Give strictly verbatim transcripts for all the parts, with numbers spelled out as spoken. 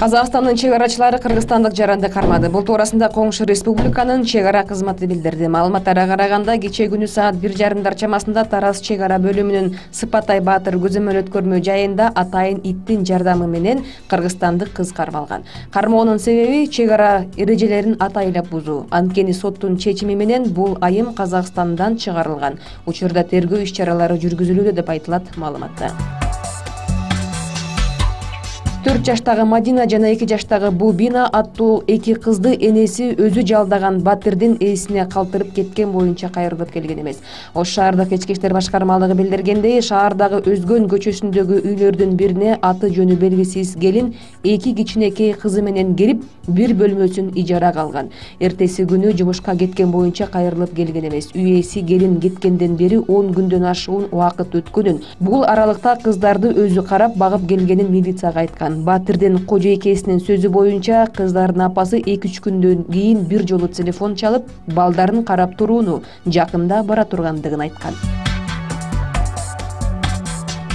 Казакстандын чек арачылары кыргызстандык жаранды кармады. Бул туурасында коңшу республиканын чек ара кызматы билдирди. Маалыматтарга караганда, кечээ күнү саат бир жарымдар чамасында Тараз чек ара бөлүмүнүн Сыпатай Баатыр көзөмөл өткөрмө жайында атайын иттин жардамы менен кыргызстандык кыз кармалган. Кармоонун себеби чек ара эрежелерин атайлап бузуу. Анткени соттун чечими менен бул айым Казакстандан чыгарылган. Учурда тергөө иш-чаралары жүргүзүлүүдө деп айтылат маалыматта. төрт жаштагы Мадина жана эки жаштагы Бубина аттуу эки кызды энеси өзү жалдаган батирдин ээсине калтырып кеткен боюнча кайрылып келген эмес. Ош шаардык ички иштер башкармалыгы билдиргендей, шаардагы Өзгөн көчөсүндөгү үйлөрдүн бирине аты жөнү белгисиз келин эки кичинекей кызы менен келип, бир бөлмөсүн ижарага алган. Эртеси күнү жумушка кеткен боюнча кайрылып келген эмес. Үй ээси келин кеткенден бери он күндөн ашуун убакыт өткөнүн, бул аралыкта кыздарды өзү карап, багып келгенин милицияга айткан. Батирдин кожойкесинин сөзү боюнча, кыздардын апасы эки үч күндөн кийин бир жолу телефон чалып, балдарын карап турууну, жакында бара тургандыгын айткан.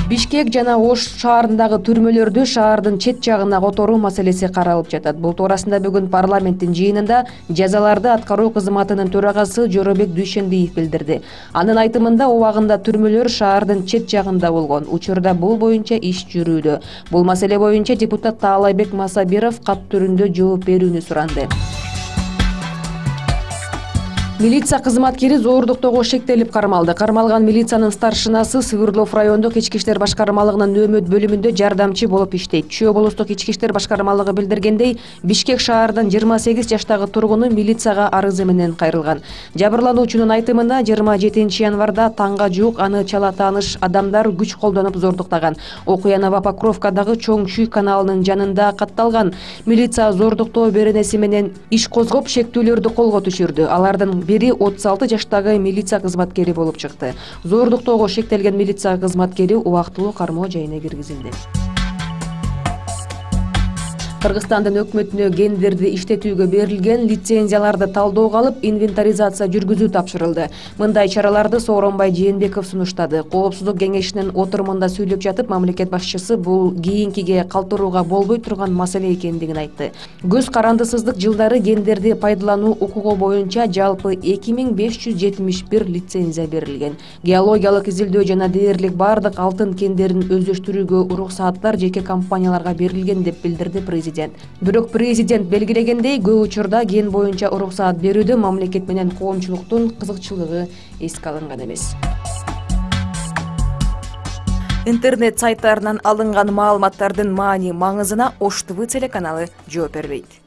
Бишкек жана Ош шаарындагы түрмөлөрдү шаардын чет жагына которуу маселеси каралып жатат. Бул туурасында бүгүн парламенттин жыйынында жазаларды аткаруу кызматынын төрагасы Жоробек Дүйшенбиев билдирди. Анын айтымында, убагында түрмөлөр шаардын чет жагында болгон. Учурда бул боюнча иш жүрүүдө. Бул маселе боюнча депутат Таалайбек Масабиров кат түрүндө жооп берүүнү суранды. Милиция кызматкери зоордуктоого шектелип кармалды. Кармалган милициянын старшинасы Сыгырлов райондук ички иштер башкармалыгынын нөөмөт бөлүмүндө жардамчы болуп иштейт. Чүй облустук ички иштер башкармалыгы билдиргендей, Бишкек шаарынын жыйырма сегиз жаштагы тургуну милицияга арызы менен кайрылган. Жабырлануучунун айтымында, жыйырма жетинчи январда таңга жуук аны чала тааныш адамдар күч колдонуп зордуктаган. Окуя Новопокровкадагы Чоң Чүй каналынын жанында катталган. Милиция зордуктоо беренеси менен иш козгоп, шектүүлөрдү колго түшүрдү. Алардын бири отуз алты жаштагы милиция кызматкери болуп чыкты. Зордуктоого шектелген милиция кызматкери убактылуу кармоо жайына киргизилди. Кыргызстандын өкмөтүнө гендерди иштетүүгө берилген лицензияларды талdoого алып, инвентаризация жүргүзүү тапшырылды. Мындай чараларды Сооронбай Жээнбеков сунуштады. Коопсуздук кеңешинин отурумунда сүйлөп жатып, мамлекет башчысы бул кийинкиге калтырууга болбой турган маселе экендигин айтты. Көз карандысыздык жылдары гендерди пайдалануу укугу боюнча жалпы эки миң беш жүз жетимиш бир лицензия берилген. Геологиялык изилдөө жана дээрлик бардык алтын кендерин өздөштүрүүгө уруксааттар жеке компанияларга берилген деп билдирди президент. Бирок президент белгилегендей, көп учурда ген боюнча уруксаат берүүдө мамлекет менен коомчулуктун кызыкчылыгы эске алынган эмес. Интернет сайттарынан алынган маалыматтардын маани маңызына Ош ТВ телеканалы жооп бербейт.